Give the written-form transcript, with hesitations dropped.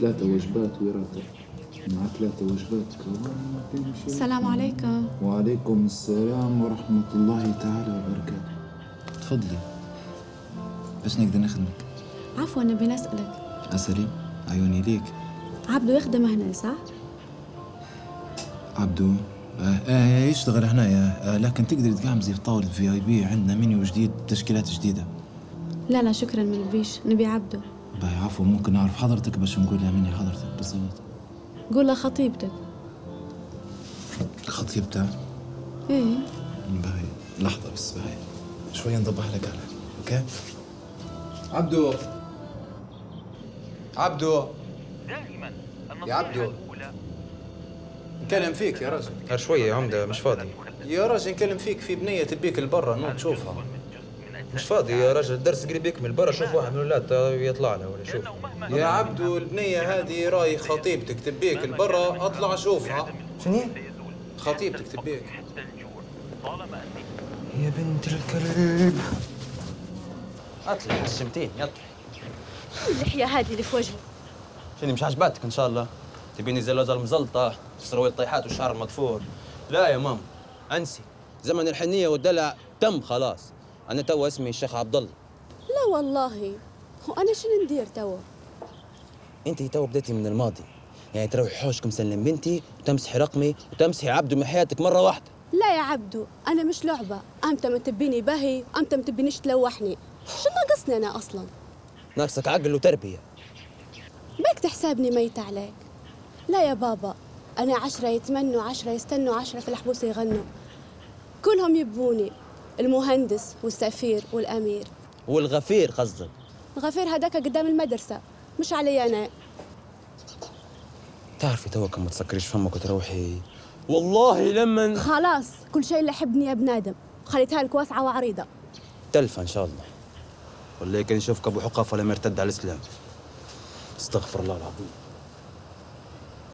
ثلاثة وجبات وراثة مع 3 وجبات. السلام عليكم. وعليكم السلام ورحمة الله تعالى وبركاته. تفضلي باش نقدر نخدمك. عفوا نبي نسألك. أسألي، عيوني ليك. عبدو يخدم هنا صح؟ عبدو يشتغل هنايا، لكن تقدري تقعمزي في طاولة VIP، عندنا منيو جديد تشكيلات جديدة. لا لا شكرا ما نبيش، نبي عبدو. باهي عفوا، ممكن نعرف حضرتك باش نقول لها مني حضرتك بالضبط؟ قول لها خطيبتك. خطيبتها؟ ايه. باهي لحظة بس، باهي شوية نضبح لك عليها، okay؟ عبدو عبدو دائما يا عبدو نكلم فيك يا رجل. شوية يا عمدة مش فاضي. يا رجل نكلم فيك، في بنية تبيك لبرا نوض تشوفها. مش فاضي يا رجل، الدرس قريب يكمل برا، شوف واحد من الولاد يطلع له ولا شوف. يا عبدو البنية هذه راي خطيبتك تبيك لبرا، اطلع شوفها. شنو؟ خطيبتك تبيك. يا بنت الكلب اطلع حشمتين، يطلع. اللحية هذه اللي في وجهك شنو مش عجباتك ان شاء الله؟ تبيني زي اللوزة المزلطة، سروال الطيحات والشعر المضفور. لا يا ماما انسي، زمن الحنية والدلع تم خلاص. أنا توا اسمي الشيخ عبد الله. لا والله، هو أنا شنو ندير توا؟ أنت توا بديتي من الماضي، يعني تروحي حوشكم سلم بنتي وتمسحي رقمي وتمسحي عبدو من حياتك مرة واحدة. لا يا عبدو، أنا مش لعبة، أمتى ما تبيني باهي، أمتى ما تبينيش تلوحني. شو ناقصني أنا أصلاً؟ ناقصك عقل وتربية. بك تحسابني ميتة عليك. لا يا بابا، أنا 10 يتمنوا، 10 يستنوا، 10 في الحبوس يغنوا، كلهم يبوني، المهندس والسفير والأمير. والغفير قصدك؟ الغفير هذاك قدام المدرسة، مش علي أنا. تعرفي توك ما تسكريش فمك وتروحي، والله لما خلاص كل شيء اللي حبني يا بنادم، خليتها لك واسعة وعريضة. تلفة إن شاء الله، والله كان يشوفك أبو حقاف ولا مرتد على الإسلام. استغفر الله العظيم.